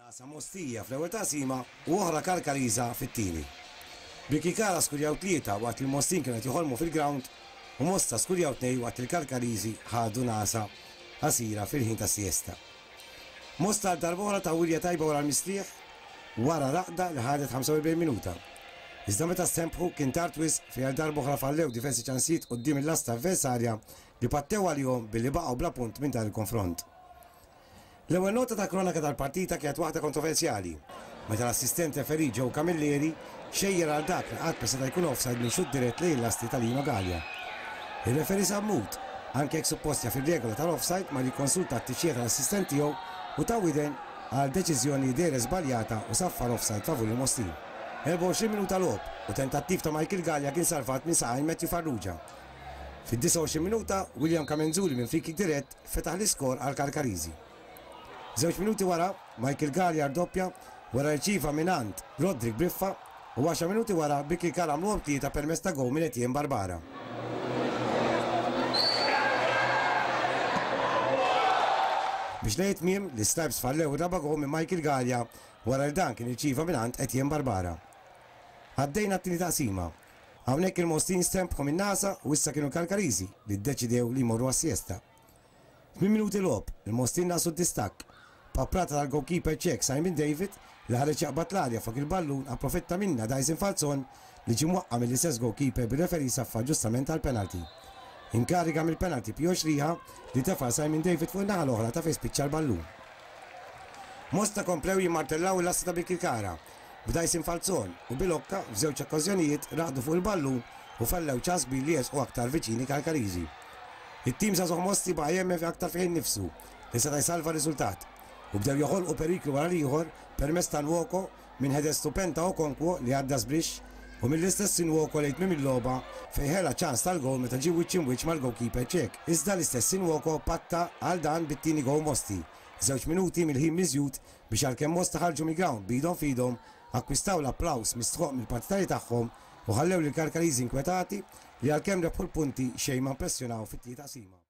Nagħsa Mostija fl-ewwel taqsima u oħra Karkariża fit-tieni. Birkirkara skurjaw tlieta waqt li l-Mostin kienu qed joħolmu fil-grawnd u Mosta skurjaw tnejn waqt li l-Karkariżi ħadu nagħsa qasira fil-ħin tas-siesta. Mosta għal darb'oħra taw wirja tajba wara l-mistrieħ wara raqda li ħadet 45 minuta. Iżda meta stenbħu kien tard wisq fejn għal darb'oħra fallew diversi ċansijiet quddiem il-lasta avversarja li pattew għalihom billi baqgħu bla punt minn dan il-konfront. L-ewwel nota ta' kronaka tal-partita kienet waħda kontroversjali, meta l-assistent referee Joe Camilleri xejjer għal dak li qatt ma seta' jkun offside minn xutt dirett lejn il-lasti ta' Lino Galea. Ir-referee Sammut, anke jekk suppost jaf ir-regola tal-offside, mar jikkonsulta t-tixjiegħ tal-assistent tiegħu u ta widen għal deċiżjoni li dehret żbaljata u saffar offside favur il-Mostin. 24 minuta logħob u tentattiv ta' Michael Galea kien salvat minn saqajn Matthew Farrugia. Fid-29 minuta, William Camenzuli minn free kick dirett fetaħ l-iskor għall-Karkariżi. Żewġ minuti wara, Michael Galea rdoppja wara rċieva mingħand Roderick Briffa u għaxar minuti wara Birkirkara għamluhom tlieta permezz ta' gowl minn Etienne Barbara. Biex lejn it-tmiem, l-Istripes fallew ir-raba' gowl minn Michael Galea wara li dan kien irċieva mingħand Etienne Barbara. Għaddejna għat-tieni taqsima. Hawnhekk il-Mostin stenbħu min-nagħsa u issa kienu l-Kalkariżi li ddeċidew li jmorru għas-siesta. Tmien minuti logħob, il-Mostin naqsu d-distakk. B'aprata tal-goalkeeper Ċek Simon David li ħareġ jaqbad l-arja flok il-ballun approfitta minnha Dyson Falzon li ġie mwaqqa' mill-istess goalkeeper bir-referee saffar ġustament għall-penalty. Inkariga mill-penalty Pio Xriħa li tefa' Simon David fuq in-naħa l-oħra ta' fejn spiċċa l-ballun. Mosta komplew jimmartellaw il-lasta ta' Birkirkara B'Dyson Falzon u Bilocca f'żewġ okkażjonijiet raqdu fuq il-ballun u fallew ċans kbir li jersqu aktar viċin il-Kalkariżi. It-tim żagħżugħ Mosti baqa' jemmen fi aktar fih innifsu li seta' jsalva r-riżultat u bdew joħolqu periklu wara l-ieħor permezz ta' Nwoko minn header stupend ta' Okonkwo li għadda żbrixx u mill-istess Nwoko lejn tmiem il-logħba fejn ħela ċans tal-gowl meta ġie wiċċ imwiċċ mal-goalkeeper Ċek. Iżda l-istess Nwoko patta għal dan bit-tieni gowl Mosti żewġ minuti mill-ħin miżjud biex għalkemm Mosta ħarġu mill-grawnd b'idhom f'idhom, akkwistaw l-applaws mistħoqq mill-partitarji tagħhom u ħallew lill-Karkariżi inkwetati li għalkemm rebħu l-punti xejn ma impressjonaw fit-tieni taqsima.